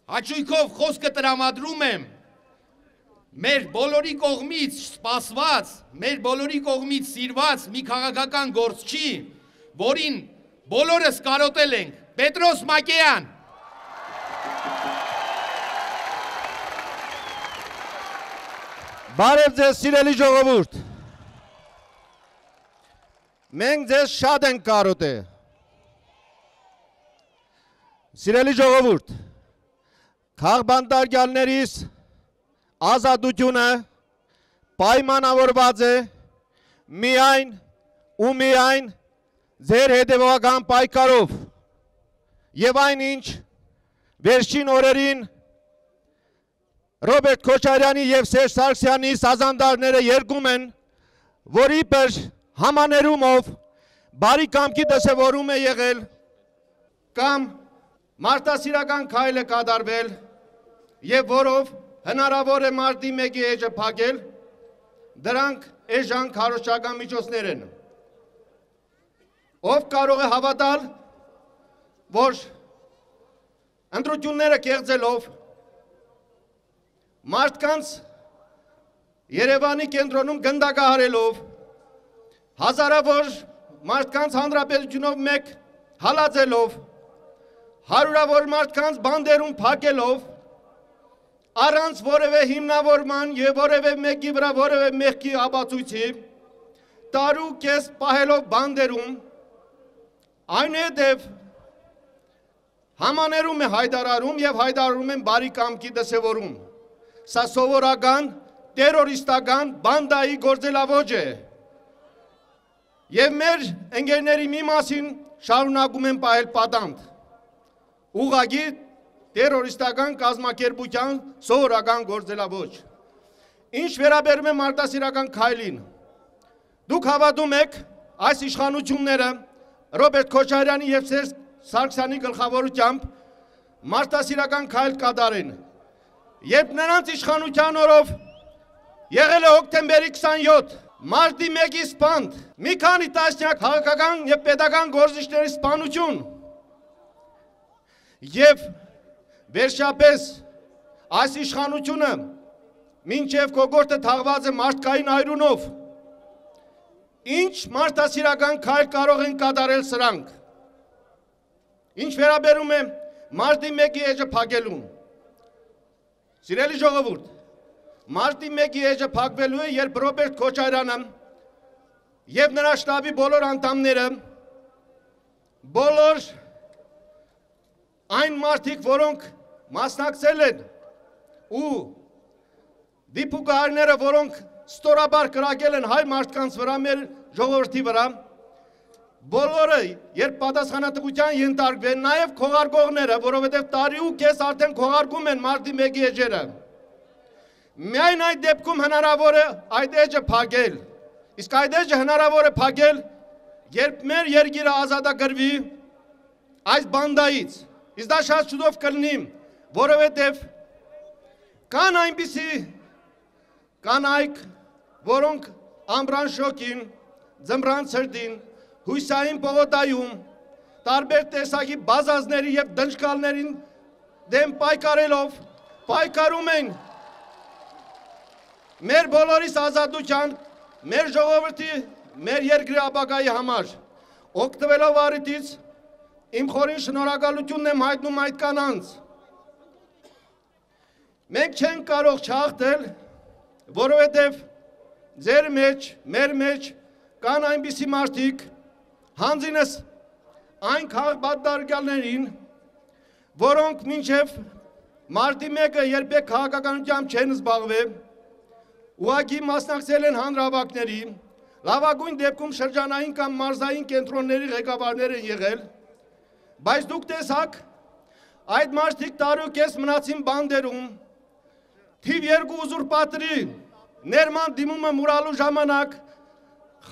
Հաճույքով խոսքը տրամադրում եմ մեր բոլորի կողմից սպասված, մեր բոլորի կողմից սիրված մի քաղաքական գործչի, որին բոլորս կարոտել ենք, Պետրոս Մակեյան։ Բարև ձեզ սիրելի ժողովուրդ։ Մենք ձեզ շատ ենք կարոտել։ Սիրելի ժողովուրդ, քաղբանտարկյալներից ազատությունը պայմանավորված է միայն ու միայն ձեր հետևողական պայքարով եւ այնինչ վերջին օրերին Ռոբերտ Քոչարյանի եւ Սերժ Սարգսյանի սազանդարները երգում են, որի պես համաներումով բարի կամքի դրսևորում է եղել կամ մարդասիրական քայլ է կատարվել եւ որով հնարավոր է մարտի 1-ի էջը փակել, դրանք էժան քարոզչական միջոցներ են։ Ով կարող է հավատալ, որ ընտրությունները կեղծելով մարդկանց Երևանի կենտրոնում գնդակահարելով, հազարավոր մարդկանց հանրապետությունով մեկ հալածելով, հարյուրավոր մարդկանց բանդերում փակելով, առանց որևէ հիմնավորման եւ որևէ մեկի վրա որևէ մեղքի ապացույցի, տարու կես պահելով բանդերում, այնուհետև համաներում է հայտարարում եւ հայտարարում են բարի կամքի դրսևորում։ Սա սովորական տերորիստական բանդայի գործելաոճ է։ Եվ մեր ընկերների մի մասին շարունակում են պահել պատանդ։ Ուղղակի տերորիստական կազմակերպության սովորական գործելաոճ։ Ինչ վերաբերում է մարդասիրական քայլին, դուք հավատում եք այս իշխանությունները Ռոբերտ Քոչարյանի եւ Սերժ Սարգսյանի գլխավորությամբ մարդասիրական քայլ կատարեն, երբ նրանց իշխանության օրով եղել է հոկտեմբերի 27 մարտի 1-ի սպանդ, մի քանի տասնյակ քաղաքական եւ պետական գործիչների սպանություն եւ վերջապես այս իշխանությունը մինչև կոկորդը թաղված է մարդկային այրունով, ինչ մարդասիրական քայլ կարող են կատարել սրանք։ Ինչ վերաբերում է մարտի 1-ի էջը փակելուն, սիրելի ժողովուրդ, մարտի 1-ի էջը փակվելու է, երբ Ռոբերտ Քոչարյանը եւ նրա շտաբի բոլոր անդամները, բոլոր այն մարդիկ, որոնք մասնակցել են ու դիպուկահարները, որոնք ստորաբար կրակել են հայ մարդկանց վրա, մեր ժողովրդի վրա, բոլորը, երբ պատասխանատվության ենթարկվեն, նաև քողարկողները, որովհետև տարի ու կես արդեն քողարկում են մարտի 1-ի էջերը։ Միայն այդ դեպքում հնարավոր է այդ էջը փակել։ Իսկ այդ էջը հնարավոր է փակել, երբ մեր երկիրը ազատագրվի այս բանդայից։ Իսկ դա շատ շուտով կլինի, որովհետև կան այնպիսի կանայք, որոնք ամռան շոգին, ձմռան ցրտին, հույսային պողոտայում, տարբեր տեսակի բազազների և դնչկալներին դեմ պայքարելով, պայքարում են մեր բոլորիս ազատության, մեր ժողովրդի, մեր երկրի ապագայի համար, օգտվելով առիթից, իմ խորին շնորհակալությունն եմ հայտնում այդ կանանց։ Մենք չենք կարող չհաղթել, որովհետև ձեր մեջ, մեր մեջ կան այնպիսի մարդիկ, հանձինս այն քաղբանտարկյալներին, որոնք մինչև մարտի 1-ը երբեք քաղաքականությամբ չեն զբաղվել, ուղղակի մասնակցել են հանրահավաքների, լավագույն դեպքում շրջանային կամ մարզային կենտրոնների ղեկավարներ են եղել, բայց դուք տեսաք, այդ մարդիկ տարի ու կես մնացին բանդերում, թիվ 2 ուզուրպատորի ներման դիմումը մուրալու ժամանակ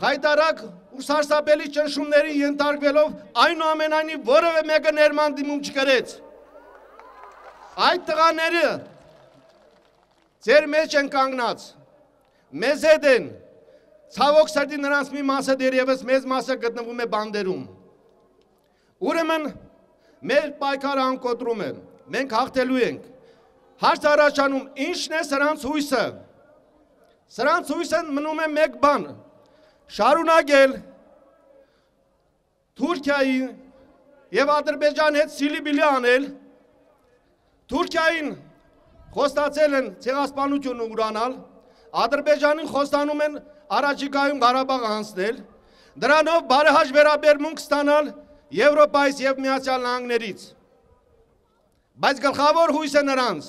խայտարակ ու սարսափելի ճնշումների ենթարկվելով այնուամենայնիվ որևէ մեկը ներման դիմում չկրեց։ Այդ տղաները ձեր մեջ են կանգնած, մեզ հետ են, ցավոք սրտի նրանց մի մասը դեռևս մեծ մասը գտնվում է բանդերում։ Ուրեմն մեր պայքարը անկոտրում է, մենք հաղթելու ենք։ Հարց առաջանում, ինչն է սրանց հույսը։ Սրանց հույսը մնում է մեկ բան, շարունակել Թուրքիայի և Ադրբեջանի հետ սիլիբիլի անել, Թուրքիային խոստացել են ցեղասպանություն ուրանալ, Ադրբեջանին խոստանում են առաջիկայում Ղարաբաղ հանձնել, դրանով բարեհաճ վերաբերմունք ստանալ Եվրոպայից և Միացյալ Նահանգներից։ Բայց գլխավոր հույսը նրանց,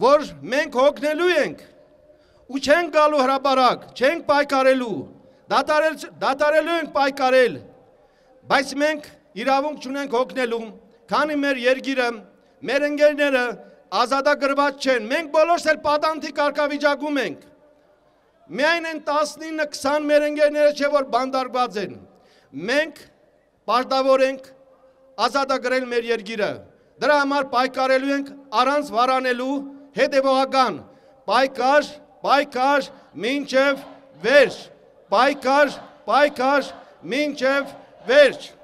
որ մենք հոգնելու ենք ու չենք գալու հրապարակ, չենք պայքարելու, դատարելու ենք պայքարել, բայց մենք իրավունք չունենք հոգնելու, քանի մեր երկիրը, մեր ընկերները ազատագրված չեն, մենք բոլորս էլ պատանտի կարգավիճակում ենք, միայն են 19-20 մեր ընկերները չէ, որ բանտարկված են, մենք պարտավոր ենք ազատագրել մեր երկիրը, դրա համար պայքարելու ենք առանց վարանելու, հետևողական, պայքար, մինչև վերջ, պայքար, մինչև վերջ։